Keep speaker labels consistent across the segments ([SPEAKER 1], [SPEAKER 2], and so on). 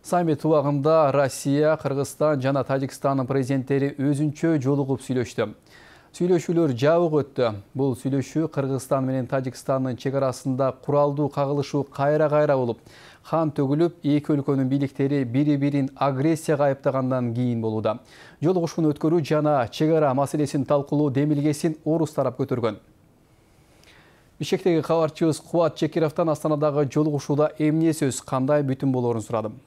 [SPEAKER 1] Саммит убагында Россия, Кыргызстан жана Тажикстандын президенттери өзүнчө жолугуп сүйлөштү. Сүйлөшүүлөр жабык өттү. Бул сүйлөшүү Кыргызстан менен Тажикстандын чек арасында куралдуу кагылышуу кайра-кайра болуп, қан төгүлүп, эки өлкөнүн бийликтери бири-бирин агрессияга айыптагандан кийин болууда. Жолугушууну өткөрүү жана чек ара маселесин талкуулоо демилгесин орус тарап көтөргөн. Бишкектеги кабарчыбыз Кубат Чекировдон Астанадагы жолугушууда эмне сөз, кандай бүтүн болоорун сурадым.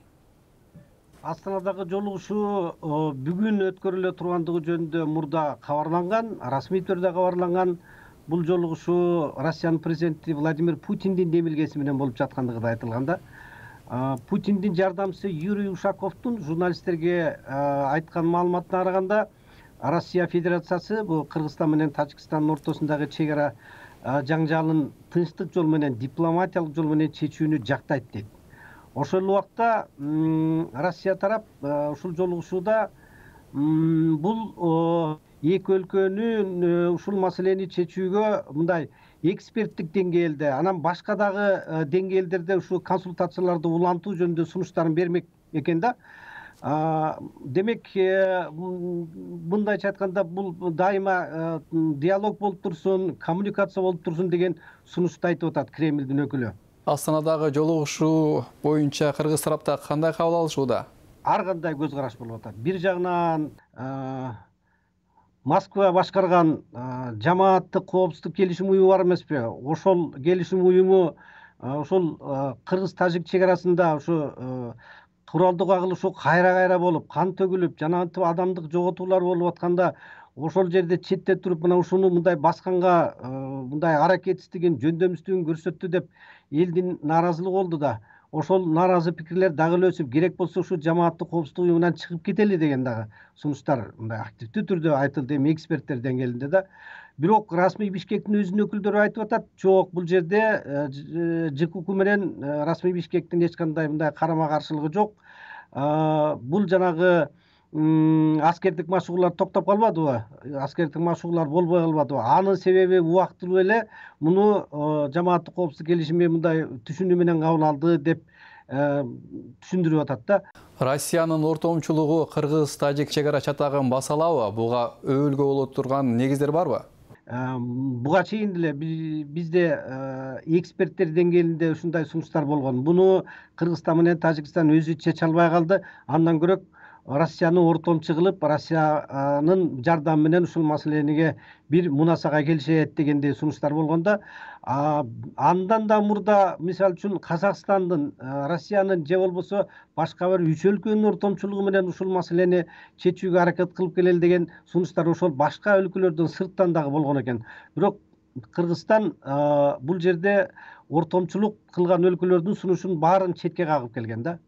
[SPEAKER 2] Астанадагы жолугушуу бүгүн өткөрүлө тургандыгы жөнүндө мурда кабарланган, расмий түрдө кабарланган. Бул жолугушуу Россиянын президенти Владимир Путиндин демилгеси менен болуп жаткандыгы да айтылган да. Путиндин жардамчысы Юрий Ушаковдун журналисттерге айткан маалыматына караганда, Россия Федерациясы бул Кыргызстан менен Тажикстандын ортосундагы чек ара жаңжалын тынчтык жол менен, дипломатиялык жол менен чечүүнү жактайт дейт. Ошол убакта Россия тарап ушул жолугушууда бул эки өлкөнүн ушул маселени чечүүгө мындай эксперттик деңгээлде, анан башка дагы деңгээлдерде ушул консультацияларды улантуу жөнүндө сунуштарын бермек экен да. Демек, мындайча айтканда, бул дайыма диалог болуп турсун, коммуникация болуп турсун деген сунушту айтып атат Кремлдин өкүлү.
[SPEAKER 1] Астанадагы жолугушуу боюнча кыргыз тарапта кандай кабыл алышууда?
[SPEAKER 2] Ар кандай көз караш болуп атат. Бир жагынан Москва башкарган жамааттык коопсуздук келишим уюму бар эмеспи? Ошол келишим уюму ошол кыргыз-тажик чек арасында ушу куралдуу кагылышуу кайра-кайра болуп, кан төгүлүп, жана адамдык жоготуулар болуп атканда, ошол жерде четте туруп мына ушуну мындай басканга мындай аракетсиздигин, жөндөмсүздүгүн көрсөттү деп элдин нааразылыгы болду да. Ошол нааразы пикирлер дагы эле өсүп, керек болсо ушу жамааттык коопсуздук уюмунан чыгып кетели деген дагы сунуштар мындай активдүү түрдө айтылды эми эксперттер деңгээлинде да. Бирок расмий Бишкектин өзүнүн өкүлдөрү айтып атат, жок, бул жерде ЖКУК менен расмий Бишкектин эч кандай мындай карама каршылыгы жок. Бул жанагы аскердик машыгуулар токтоп калбадыбы? Аскердик машыгуулар болбой калбадыбы? Анын себеби убактылуу эле муну жамааттык коопсуздук келишими мындай түшүнүү менен кабыл алды деп түшүндүрүп атат да.
[SPEAKER 1] Россиянын ортомчулугу кыргыз-тажик чек ара чатагын баса алабы? Буга өбөлгө боло турган негиздер барбы?
[SPEAKER 2] Буга чейин деле бизде эксперттер деңгээлинде ушундай сунуштар болгон. Буну Кыргызстан менен Тажикстан өзү чече албай калды. Андан көрөк Россияны ортомчу кылып, Россиянын жардамы менен ушул маселениге бир мунасага келишет дегендей сунуштар болгондо, андан да мурда мисалы үчүн Казакстандын, Россиянын же болбосо башка бир үч өлкөнүн ортомчулугу менен ушул маселени чечүүгө аракет кылып келели деген сунуштар ошол башка өлкөлөрдөн сырттан дагы болгон экен. Бирок Кыргызстан бул жерде ортомчулук кылган өлкөлөрдүн сунушун баарын четке кагып келген да.